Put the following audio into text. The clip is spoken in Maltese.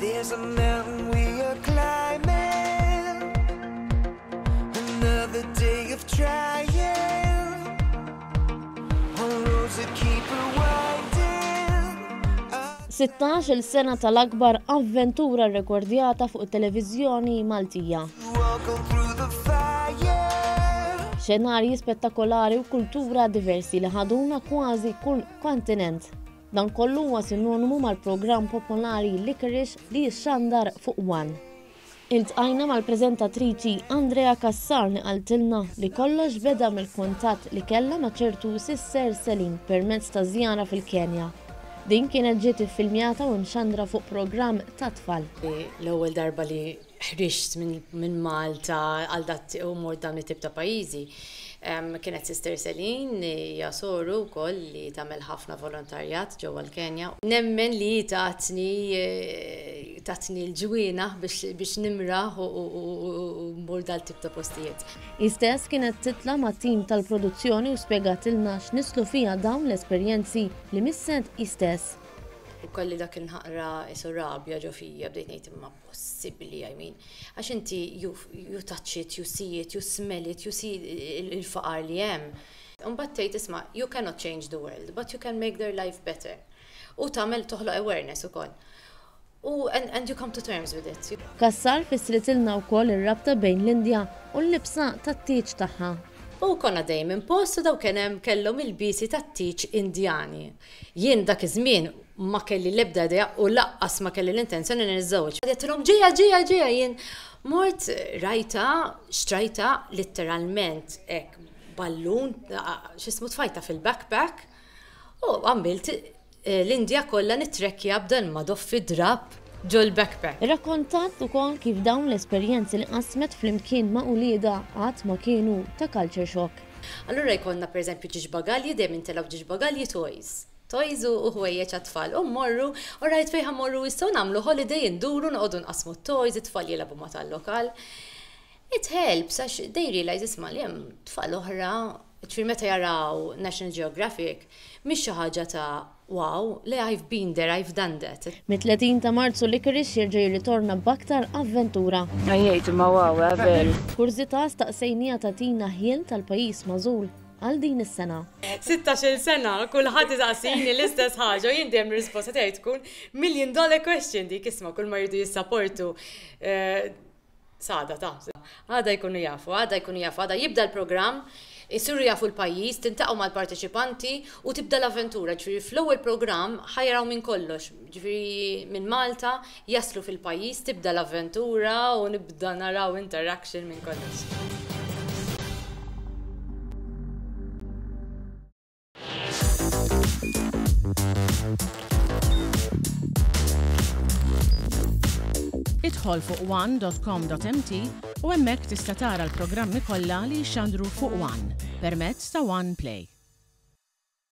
There's a mountain we are climbing, another day of trying, on roads that keep rewinding. 16-il sena tal-akbar avventura rrekordjata fuq it-televiżjoni Maltija. Walking through the fire. Xenarji spettakolari u kultura diversi li ħaduna kważi kull kontinent. Dan kollu huwa sinonimu mal-programm popolari Licorice li jixxandar fuq One. Iltqajna mal-preżentatriċi Andrea Cassar li qaltilna li kollox beda mill-kuntatt li kellha ma' ċertu Sister Celine permezz ta' żjara fil-Kenja. Din kienet ġiet iffilmjata u mxandra fuq programm tat-tfal. L-ewwel darba li ħriġt minn Malta għal dat u mort dawn it-tip ta' pajjiżi. Kienet Sister Celine, hija soru wkoll li tagħmel ħafna volontarjat ġewwa l-Kenja. Nemmen li hi tatni tatni l-ġwienaħ biex nimraħ u mmur dal-tip ta' postijiet. Hi stess kienet titla' mat-tim tal-produzzjoni u spjegatilna x'nisslu fiha dawn l-esperjenzi li misset hi stess. U kelli dak il-naqra qisu rabja ġo fija, bdejt ngħid imma possibbli, I mean, għax inti you, you touch it, you see it, you smell it, you see il-faqar li hemm. Imbagħad tgħid isma' you cannot change the world, but you can make their life better. U tagħmel toħloq awareness ukoll. U and, and you come to terms with it. Cassar fissritilna wkoll ir-rabta bejn l-Indja u l-libsa tat-tieġ tagħha. U konna dejjem minn post u daw kien hemm kellhom ilbiesi tat-tieġ Indjani. Jien dak iż-żmien ma kelli l-ebda idea u laqqas ma kelli l-intenzjoni li niżżewweġ. Għedtilhom ġejja, ġejja, ġejja, jien mort rajtha, xtrajtha litteralment hekk ballun, x'ismu tfajtha fil-backpack u għamilt l-Indja kollha nittrekkja b'dan madoffi drapp ġol-backpack. Irrakkontat ukoll kif dawn l-esperjenzi li qasmet flimkien ma' uliedha qatt ma kienu ta' culture shock. Allura jkollna pereżempju ġiex bagalji, dejjem intelgħu ġiex bagalji toys. Toys u ħwejjeġ għat-tfal. U mmorru, u rajt fejn ħa mmorru issa u nagħmlu holiday induru noqogħdu nqassmu t-toys, it-tfal jilagħbu ma' tal-lokal. It helps għax they realise isma' li hemm tfal oħra, ġifieri meta jaraw National Geographic mhix xi ħaġa ta' wow, le I've been there, I've done that. Mit-30 ta' Marzu Licorice jerġa' jirritorna b'aktar avventura. Għajjejt imma wow, eh, veru. Kurżità staqsejniha tagħtina ħjiel tal-pajjiż magħżul għal din is-sena. 16-il sena, kulħadd isaqsini l-istess ħaġa u jien dejjem ir-risposta tiegħi tkun million dollar question dik isma' kull ma jridu jissaportu eh, S'għada ta. Għada jkunu jafu, għada jkunu jafu, għada jibda l-programm, isiru jafu l-pajjiż, tintaqgħu mal-parteċipanti u tibda l-avventura. Ġifieri fl-ewwel programm ħa jaraw minn kollox, ġifieri minn Malta jaslu fil-pajjiż, tibda l-avventura u nibda naraw interaction minn kollox. Idħol fuq one.com.mt u hemmhekk tista' tara l-programmi kollha li jixxandru fuq One permezz ta' One Play.